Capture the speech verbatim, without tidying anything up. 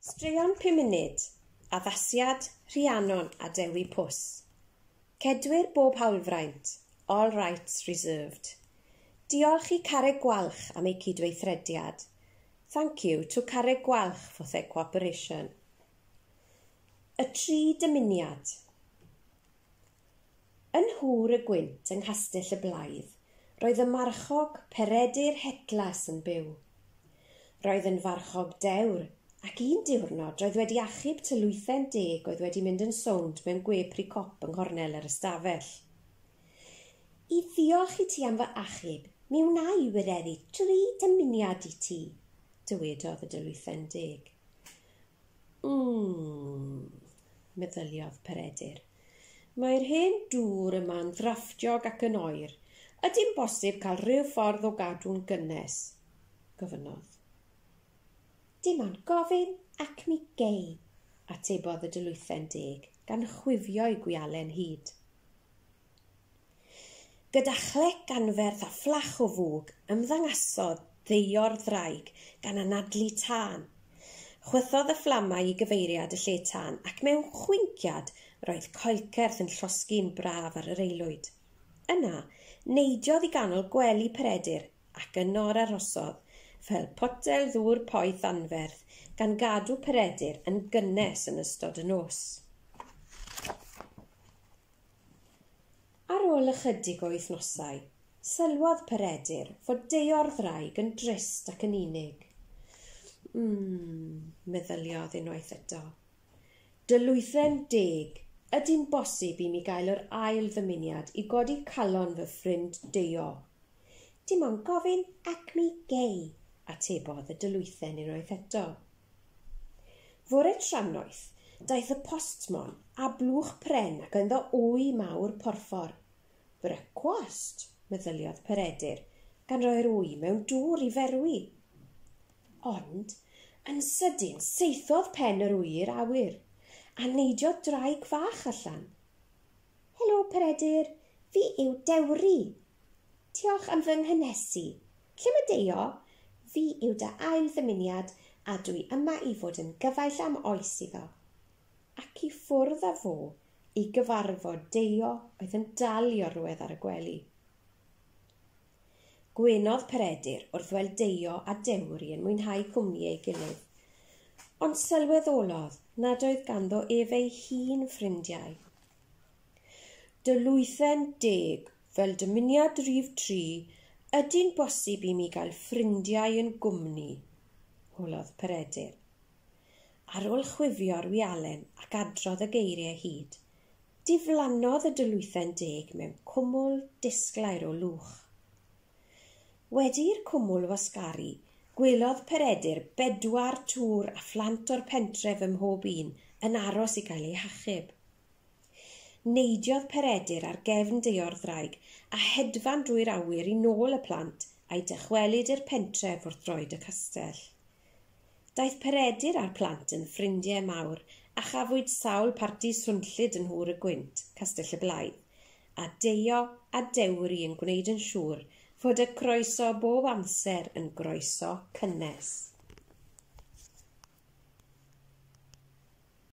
Straeon pum munud, addasiad Rhiannon a Dewi Pws. Cedwir bob hawlfraint, all rights reserved. Diolch i Carreg Gwalch am eu cydweithrediad. Thank you to Carreg Gwalch for their cooperation. Y tri dymuniad. Yn Nhŵr y Gwynt yng Nghastell y Blaidd, roedd y marchog Peredur Hetlas yn byw. Roedd yn farchog dewr, ac un diwrnod roedd wedi achub tylwythen deg oedd wedi mynd yn sownd mewn gwepri cop yng nghornel yr ystafell. I ddiolch i ti am fy achub, mi wna i wireddu tri dymuniad i ti, dywedodd y dylwythen deg. Mm, meddyliodd Peredur. Mae'r hen dŵr yma'n ddrafftiog ac yn oer. Ydy'n bosib cael rhyw ffordd o gadw'n gynnes? Gofynnodd. Dim ond gofyn ac mi gei, atebodd y dylwythen deg, gan chwifio'i gwialen hyd. Gyda chlec anferth a fflach o fwg, ymddangasodd Deio'r ddraig gan anadlu tân. Chwythodd y fflamau i gyfeiriad y lle tân ac mewn chwinciad roedd coelcerth yn llosgi'n braf ar yr aelwyd. Yna, neidiodd i ganol gwely Peredur ac yno yr arhosodd, fel potel ddŵr poeth anferth, gan gadw Peredur yn gynnes yn ystod y nos. Ar ôl ychydig o wythnosau, sylwodd Peredur fod Deio'r ddraig yn drist ac yn unig. Mm, meddyliodd unwaith eto. Dylwythen deg, ydy'n bosib i mi gael yr ail ddymuniad i godi calon fy ffrind Deio? Dim ond gofyn ac mi gei, atebodd y dylwythen unwaith eto. Fore trannoeth, daeth y postmon a blwch pren ac ynddo wy mawr porffor. Brecwast, meddyliodd Peredur, gan roi'r wy mewn dŵr i ferwi. Ond, yn sydyn, saethodd pen yr wy i'r awyr, a neidiodd draig fach allan. Helo, Peredur, fi yw Dewri. Diolch am fy nghynhesu. Lle mae Deio? Fi yw dy ail ddymuniad a dwi yma i fod yn gyfaill am oes iddo. Ac i ffwrdd â fo i gyfarfod Deio oedd yn dal i orwedd ar y gwely. Gwenodd Peredur wrth weld Deio a Dewri yn mwynhau cwmni ei gilydd, ond sylweddolodd nad oedd ganddo ef ei hun ffrindiau. Dylwythen deg, fel dymuniad rhif tri, ydy'n bosib i mi gael ffrindiau yn gwmni? Holodd Peredur. Ar ôl chwifio'r wialen ac adrodd y geiriau hyd, diflannodd y dylwythen deg mewn cwmwl disglair o lwch. Wedi'r cwmwl wasgaru, gwelodd Peredur bedwar tŵr a phlant o'r pentref ym mhob un yn aros i gael eu hachub. Neidiodd Peredur ar gefn Deio'r ddraig a hedfan drwy'r awyr i nôl y plant a'i dychwelyd i'r pentref wrth droed y castell. Daeth Peredur a'r plant yn ffrindiau mawr a chafwyd sawl parti swnllyd yn Nhŵr y Gwynt, Castell y Blaidd, a Deio a Dewri yn gwneud yn siŵr fod y croeso bob amser yn groeso cynnes.